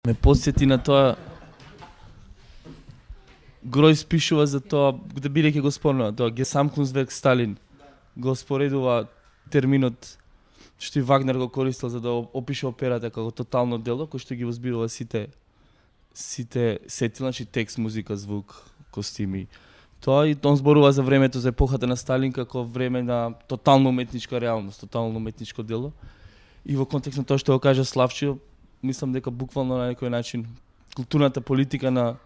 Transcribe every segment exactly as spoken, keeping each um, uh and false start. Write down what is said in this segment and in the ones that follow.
ме потсети на тоа. Гројс пишува за тоа, да бидејќи го спомнува, тоа Гесамтkunstwerk Сталин го споредува терминот што и Вагнер го користил за да опише операта како тотално дело, кој што ги возбирува сите сите сети, значи текст, музика, звук, костими. Тоа и он зборува за времето, за епохата на Сталин како време на тотално уметничка реалност, тотално уметничко дело. И во контекст на тоа што го кажа Славчо, мислам дека буквално на некој начин културната политика на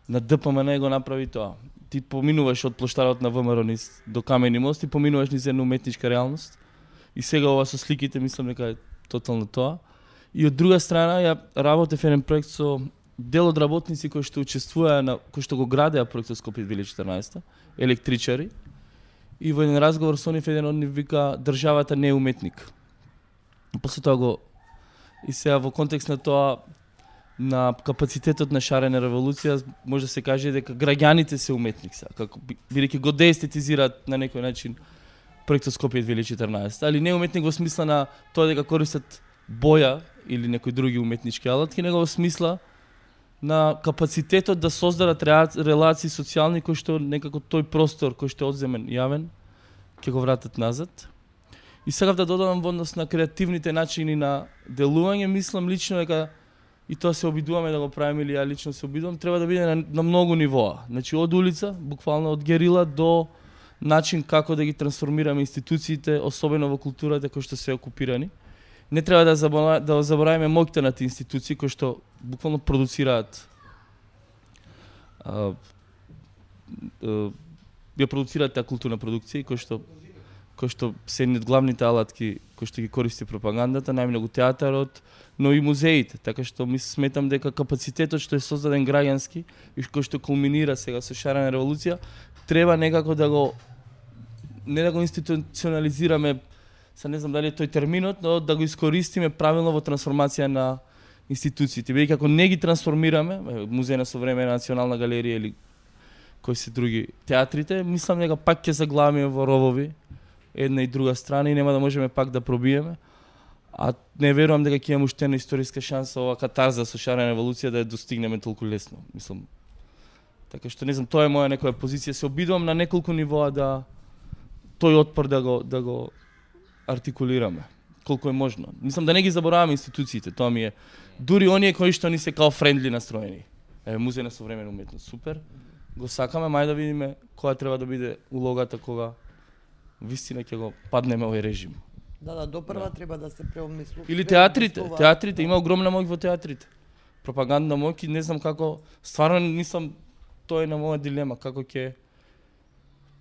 на Д П М Н го направи тоа. Ти поминуваш од плоштарот на Вэ М Р низ до Камени мост и поминуваш низ една уметничка реалност. И сега ова со сликите мислам дека е тотално тоа. И од друга страна ја работев еден проект со дел од работници кои што учествуваа на кои што го градеа проектот Скопје две илјади и четрнаесетта, електричари. И во еден разговор со нив еден од нив вика државата не е уметник. И после тоа го и сега во контекст на тоа на капацитетот на шарена револуција може да се каже дека граѓаните се уметник сега, како бидејќи го деестетизираат на некој начин проектот Скопје две илјади и четрнаесетта, али не уметник во смисла на тоа дека користат боја или некои други уметнички алатки, него во смисла на капацитетот да создадат релации социјални кои што некако тој простор кој што е одземен јавен ќе го вратат назад. И сега да додадам во однос на креативните начини на делување, мислам лично дека и тоа се обидуваме да го правиме или ја лично се обидувам, треба да биде на, на многу нивоа. Значи од улица, буквално од герила до начин како да ги трансформираме институциите, особено во културата кои што се окупирани. Не треба да забора, да забораваме моќта на тие институции кои што буквално продуцираат а, а, ја продуцираат таа културна продукција кои што кои што се едни од главните алатки кои што ги користи пропагандата, најмногу театарот, но и музеите, така што ми сметам дека капацитетот што е создаден граѓански и кој што кулминира сега со шарена револуција, треба некако да го не да го институционализираме, се не знам дали е тој терминот, но да го искористиме правилно во трансформација на институциите. Бидејќи ако не ги трансформираме, Музеј на современа национална галерија или кои се други театрите, мислам дека пак ќе заглавиме во ровови една и друга страна и нема да можеме пак да пробиеме. А не верувам дека ќе имаме уште една историска шанса ова катарза со шарена револуција да ја достигнеме толку лесно. Мислам. Така што не знам, тоа е моја некоја позиција. Се обидувам на неколку нивоа да тој отпор да го да го артикулираме колку е можно. Мислам да не ги забораваме институциите, тоа ми е. Дури оние кои што ни се као френдли настроени. Е, Музеј на современа уметност, супер. Го сакаме, мај да видиме која треба да биде улогата кога вистина ќе го паднеме овој режим. Да, да, допрва да. Треба да се преомислува. Или театрите, театрите има огромна моќ во театрите. Пропагандна моќ и не знам како, стварно нисам, тоа е на моја дилема, како ќе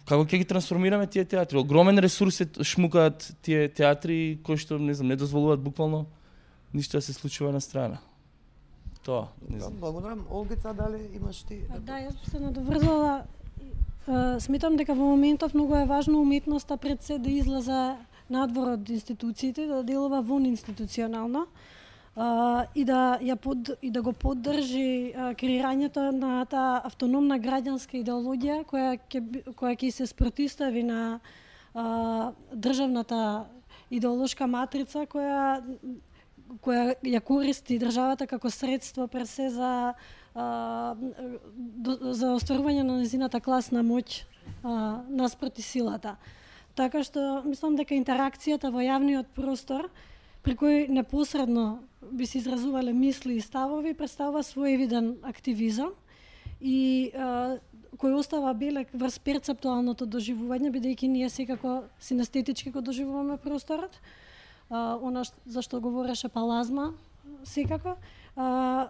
како ќе ги трансформираме тие театри. Огромен ресурс се шмукаат тие театри кои што не знам, не дозволуваат буквално ништо да се случува на страна. Тоа, не знам. Благодарам. Олгица, дали имаш ти? Да, јас би се надоврзала. Сметам дека во моментов многу е важно уметноста пред се да излезе надвор од институциите, да делува вон институционално а, и да ја под, и да го поддржи а, креирањето на таа автономна граѓанска идеологија која ќе која ќе се спротивстави на а, државната идеолошка матрица која која ја користи државата како средство пред се за а, до, за остварување на незината класна моќ а, наспроти силата. Така што мислам дека интеракцијата во јавниот простор при кој непосредно би се изразувале мисли и ставови представува своевиден активизам и а, кој остава белек врз перцептуалното доживување, бидејќи ние секако синестетички го доживуваме просторот. Uh, она за што говореше Палазма, секако. Uh,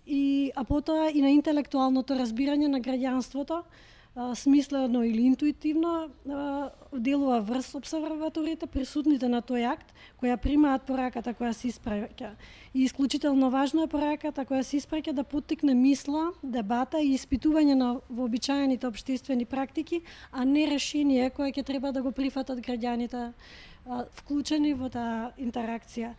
и, а потоа и на интелектуалното разбирање на граѓанството, uh, смислено или интуитивно, uh, делува врз обсерваторите, присутните на тој акт, која примаат пораката која се испраќа. И исклучително важно е пораката која се испраќа да поттикне мисла, дебата и испитување на вообичаените општествени практики, а не решение кое ќе треба да го прифатат граѓаните вклучени во таа интеракција.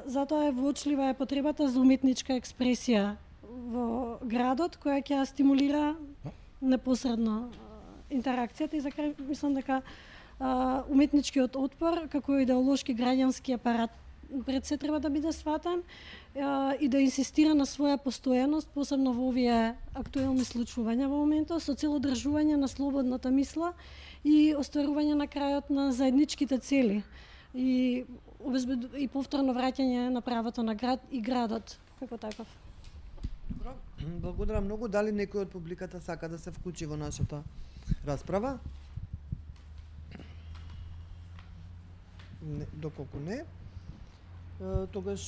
Затоа е вочлива е потребата за уметничка експресија во градот, која ќе стимулира непосредно интеракцијата и за крај мислам дека уметничкиот отпор како идеолошки граѓански апарат пред се треба да биде сватен и да инсистира на своја постојаност, посебно во овие актуелни случувања во моментот, со цел одржување на слободната мисла и остварување на крајот на заедничките цели и обезбед... и повторно враќање на правото на град и градот како таков. Добро, благодарам многу. Дали некој од публиката сака да се вклучи во нашата расправа? Не, доколку не, тогаш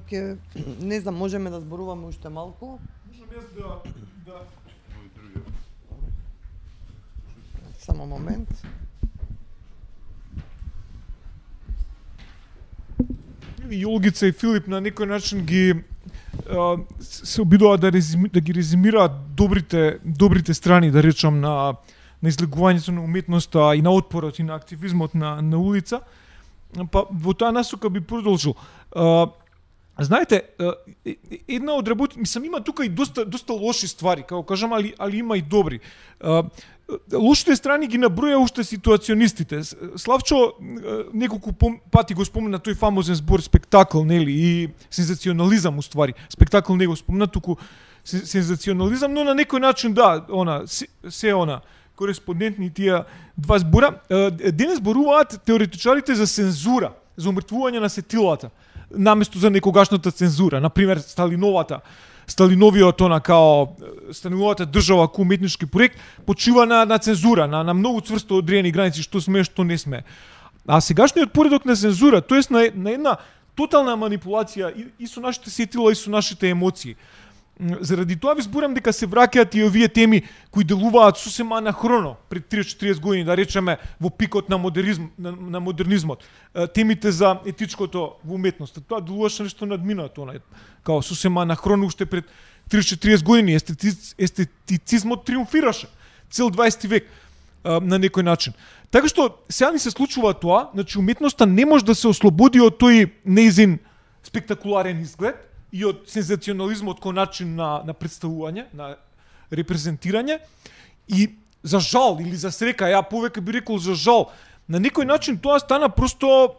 ќе не знам, можеме да зборуваме уште малку. Можам јас да да Само момент. И Олгица и Филип на некој начин ги а, се обидуваат да, резими, да ги резимираат добрите добрите страни, да речам, на на излегувањето на уметноста и на отпорот и на активизмот на на улица. Па во таа насока би продолжил. А, знаете, една од работи, мислам, има тука и доста доста лоши ствари, како кажам, али али има и добри. А, лошите страни ги наброја уште ситуационистите. Славчо неколку пати го спомена тој фамозен збор спектакл, нели, и сензационализам уствари. Спектакл не го спомена, туку сензационализам, но на некој начин да, она се, се она кореспондентни тие два збора. Денес зборуваат теоретичарите за цензура, за умртвување на сетилата, наместо за некогашната цензура. Например, Сталиновата, Сталиновиот она као Сталиновата држава ко уметнички проект почива на на цензура, на на многу цврсто одредени граници што сме, што не сме. А сегашниот поредок на цензура, тоест на на една тотална манипулација и, и со нашите сетила и со нашите емоции. Заради тоа ви зборам дека се враќаат и овие теми кои делуваат сосема анахроно пред триесет до четириесет години, да речеме во пикот на модернизм, на, на модернизмот. Темите за етичкото во уметноста, тоа делуваше нешто надминато, она као сосема анахроно уште пред триесет до четириесет години. Естетиц, естетицизмот триумфираше цел дваесети век на некој начин. Така што сега ни се случува тоа, значи уметноста не може да се ослободи од тој неизин спектакуларен изглед и од сензационализмот кој начин на, на представување, на репрезентирање. И за жал или за срека, ја повеќе би рекол за жал, на некој начин тоа стана просто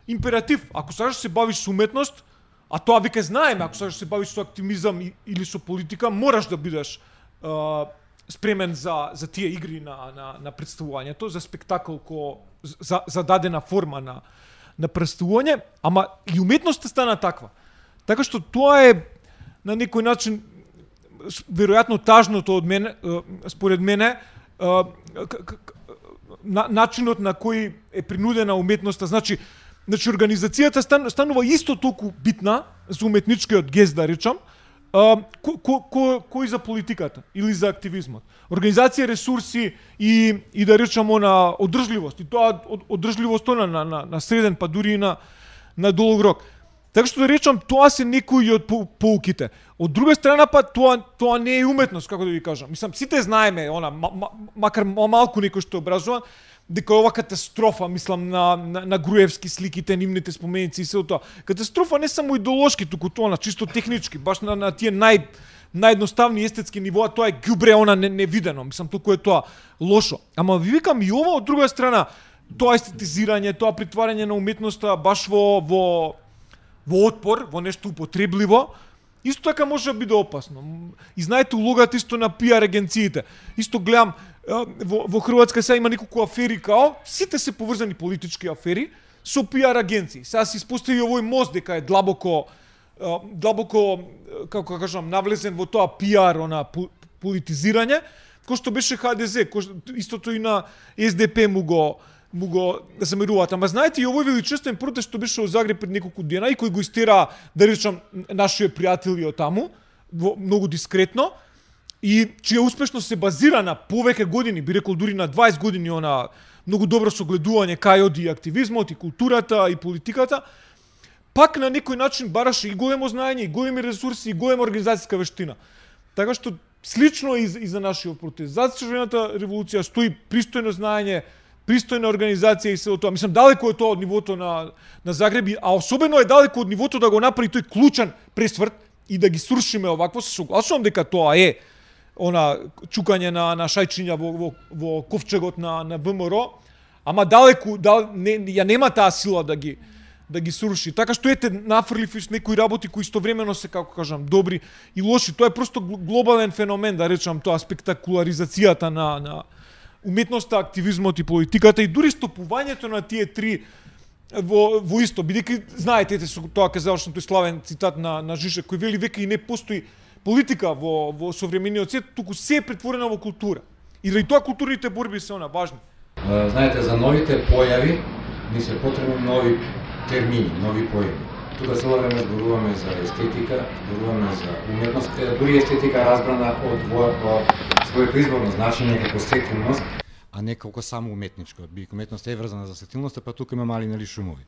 императив. Ако сакаш да се бавиш со уметност, а тоа веќе знаеме, ако сакаш да се бавиш со активизам или со политика, мораш да бидеш а, спремен за, за тие игри на, на, на представувањето, за спектакл ко, за, за дадена форма на, на представување, ама и уметноста стана таква. Така што тоа е на некој начин веројатно тажното од мене, според мене, начинот на кој е принудена уметноста. Значи, значи организацијата станува исто толку битна за уметничкиот гест, да речам, кој ко, ко, ко за политиката или за активизмот. Организација, ресурси и, и да речам она одржливост. И тоа одржливост на, на, на среден, па дури и на, на долг рок. Така што да речам, тоа се некои од поуките. Од друга страна па тоа тоа не е уметност, како да ви кажам. Мислам, сите знаеме, она макар малку некој што е образован, дека ова катастрофа, мислам на на, на Груевски сликите, нивните споменици и се тоа. Катастрофа не само идеолошки, туку тоа на чисто технички, баш на, на тие нај наједноставни естетски нивоа, тоа е ѓубре, она не, невидено. Мислам, толку е тоа лошо. Ама ви викам и ова од друга страна, тоа естетизирање, тоа притварање на уметноста баш во во во отпор, во нешто употребливо, исто така може да биде опасно. И знаете улогата исто на пиар агенциите. Исто гледам во, во Хрватска сега има неколку афери као, сите се поврзани политички афери со пиар агенции. Сега се испостави овој мост дека е длабоко длабоко како кажам навлезен во тоа пиар, она политизирање, кој што беше Ха Де Зе, кој истото и на Ес Де Пе му го му го замеруваат. Ама знаете, и овој величествен протест што беше во Загреб пред неколку дена и кој го истера, да речам, нашите пријатели од таму, многу дискретно, и чија успешно се базира на повеќе години, би рекол дури на дваесет години, она многу добро согледување кај оди и активизмот, и културата, и политиката, пак на некој начин бараше и големо знаење, и големи ресурси, и голема организацијска вештина. Така што слично и за, и за нашиот протест. За Црвената револуција стои пристојно знаење, пристојна организација и се тоа. Мислам, далеко е тоа од нивото на, на Загреб, а особено е далеко од нивото да го направи тој клучен пресврт и да ги срушиме овакво. Се согласувам дека тоа е она чукање на, на шајчиња во, во, во ковчегот на, на ВМРО, ама далеко, дал, не, ја нема таа сила да ги, да ги сруши. Така што ете нафрлив некои работи кои истовремено се, како кажам, добри и лоши. Тоа е просто глобален феномен, да речам, тоа спектакуларизацијата на на уметноста, активизмот и политиката и дури стопувањето на тие три во во исто, бидејќи знаете, ете со тоа ќе завршам тој славен цитат на на Жишек кој вели веќе и не постои политика во во современиот свет, туку се е претворено во култура. И заради тоа културните борби се она важни. Знаете, за новите појави ни се потребни нови термини, нови појави. Тука цело време зборуваме за естетика, зборуваме за уметност, дури естетика разбрана од во, во своето изборно значење како сетилност, а не како само уметничко. Бидејќи уметноста е врзана за сетилноста, па тука има мали нели шумови.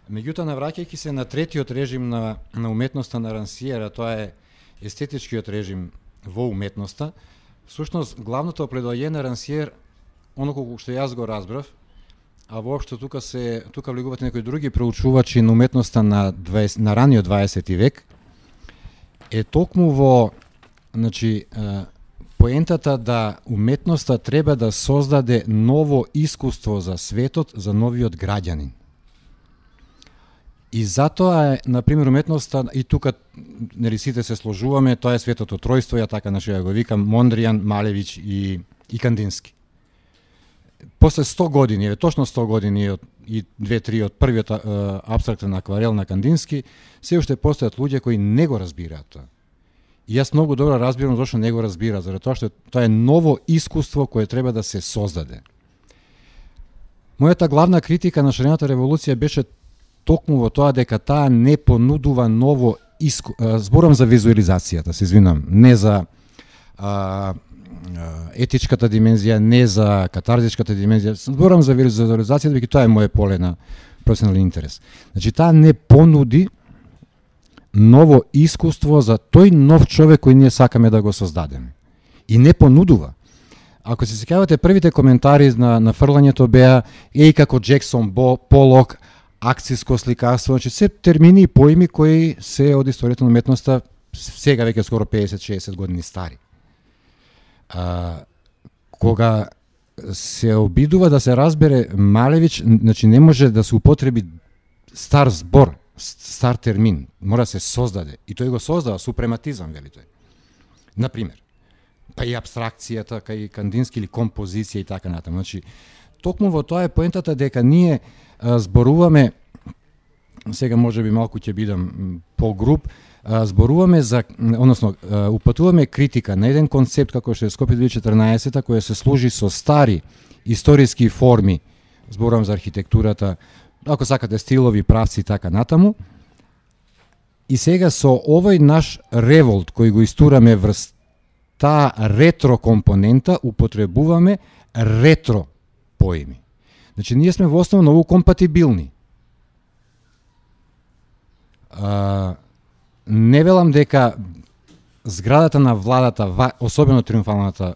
Меѓутоа, навраќајќи се на третиот режим на, на уметноста на Рансиера, тоа е естетичкиот режим во уметноста, всушност главното опледоање на Рансиер, оноко што јас го разбрав, а воопшто тука се тука влегуваат некои други проучувачи на уметноста на дваесет на раниот дваесети век, е токму во, значи, поентата да уметноста треба да создаде ново искуство за светот, за новиот граѓанин. И затоа е, на пример, уметноста, и тука нели сите се сложуваме, тоа е светото тројство, ја така нашиот го викам, Мондријан, Малевиќ и, и Кандински. После сто години, еве точно сто години од, и две-три од првиот е, абстрактен акварел на Кандински, се уште постојат луѓе кои не го разбираат тоа. И јас многу добро разбирам зашто не го разбира, заради тоа што тоа е ново искуство кое треба да се создаде. Мојата главна критика на шарената револуција беше токму во тоа дека таа не понудува ново иску... Зборам за визуализацијата, се извинам, не за а, етичката димензија, не за катарзичката димензија, зборам за визуализацијата, бидејќи тоа е моје поле на професионален интерес. Значи, таа не понуди ново искуство за тој нов човек кој ние сакаме да го создадеме. И не понудува. Ако се сеќавате, првите коментари на, на фрлањето беа еј како Джексон, Бо, Полок, акциско сликарство, значи се термини и поими кои се од историјата на уметноста сега веќе скоро песет-шесет години стари. А, кога се обидува да се разбере Малевиќ, значи не може да се употреби стар збор, стар термин, мора да се создаде. И тој го создава, супрематизам, вели тој. Например, па и абстракцијата, кај Кандински или композиција и така натаму. Значи, токму во тоа е поентата дека ние а, зборуваме, сега може би малку ќе бидам по-груб, а, зборуваме за, односно, а, упатуваме критика на еден концепт како што е Скопје две тисаци и четрнаесета, која се служи со стари историски форми, зборувам за архитектурата, ако сакате стилови, правци и така натаму. И сега со овој наш револт кој го истураме врз таа ретро компонента, употребуваме ретро поими. Значи, ние сме во основа многу компатибилни. А, не велам дека зградата на владата, особено триумфалната,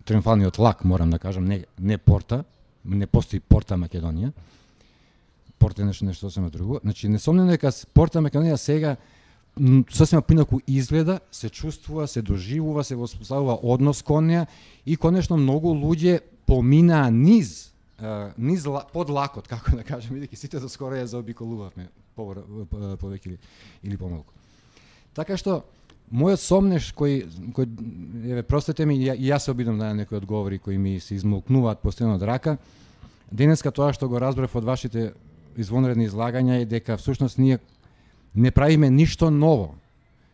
триумфалниот лак, морам да кажам, не, не порта, не постои порта Македонија, порта е нешто, нешто сосема друго. Значи, несомнено дека порта Македонија сега сосема поинаку изгледа, се чувствува, се доживува, се воспоставува однос кон неа и конечно многу луѓе поминаа низ, низ под лакот, како да кажем, бидејќи сите до скоро ја заобиколувавме повеќе или, или помалку. Така што мојот сомнеш кој кој еве простете ми, и јас се обидам да некои одговори кои ми се измолкнуваат постојано од рака. Денеска тоа што го разбрав од вашите извонредни излагања е дека всушност ние не правиме ништо ново.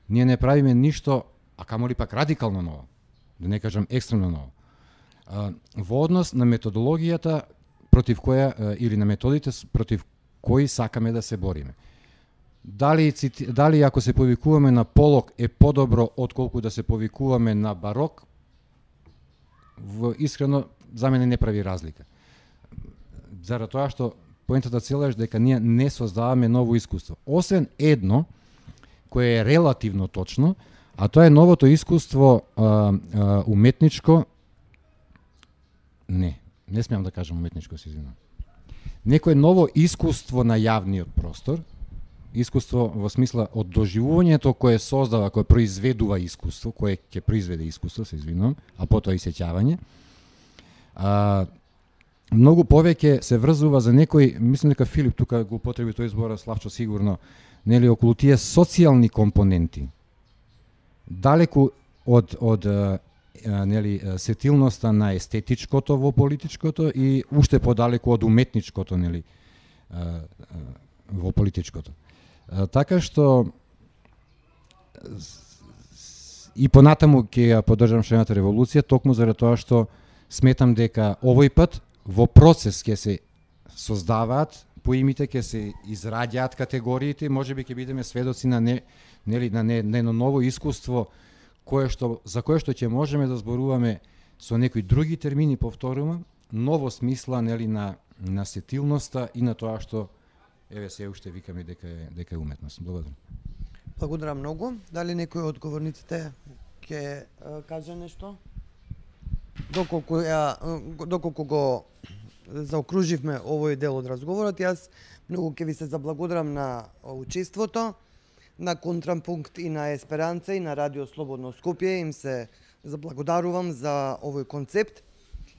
Ние не правиме ништо, а камоли пак радикално ново, да не кажам екстремно ново. А, во однос на методологијата против која, или на методите против кои сакаме да се бориме. Дали, дали ако се повикуваме на Полок е подобро отколку да се повикуваме на Барок, в, искрено, за мене не прави разлика. Заради тоа што поентата цела е дека ние не создаваме ново искуство. Освен едно, кое е релативно точно, а тоа е новото искуство а, а, уметничко, не, не смеам да кажам уметничко, се извинувам. Некое ново искуство на јавниот простор, искуство во смисла од доживувањето кое создава, кое произведува искуство, кое ќе произведе искуство, се извинувам, а потоа и сеќавање. А, многу повеќе се врзува за некој, мислам дека Филип тука го употреби тој збор, Славчо сигурно, нели околу тие социјални компоненти. Далеку од од а, нели сетилноста на естетичкото во политичкото и уште подалеку од уметничкото, нели, а, а, во политичкото. А, така што и понатаму ќе ја поддржам шената револуција, токму заради тоа што сметам дека овој пат во процес ќе се создаваат поимите, ќе се израѓаат категориите, можеби ќе бидеме сведоци на не, нели на не, не, ново искуство кое што за кое што ќе можеме да зборуваме со некои други термини, повторувам, ново смисла, нели, на на сетилноста и на тоа што еве се уште викаме дека е дека е уметност. Благодарам. Благодарам многу. Дали некој од говорниците ќе каже нешто? Доколку ја доколку го заокруживме овој дел од разговорот, јас многу ќе ви се заблагодарам на учеството, на Контрапункт и на Есперанца и на Радио Слободно Скопје. Им се заблагодарувам за овој концепт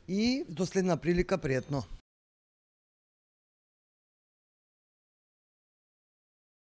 и до следна прилика, пријатно.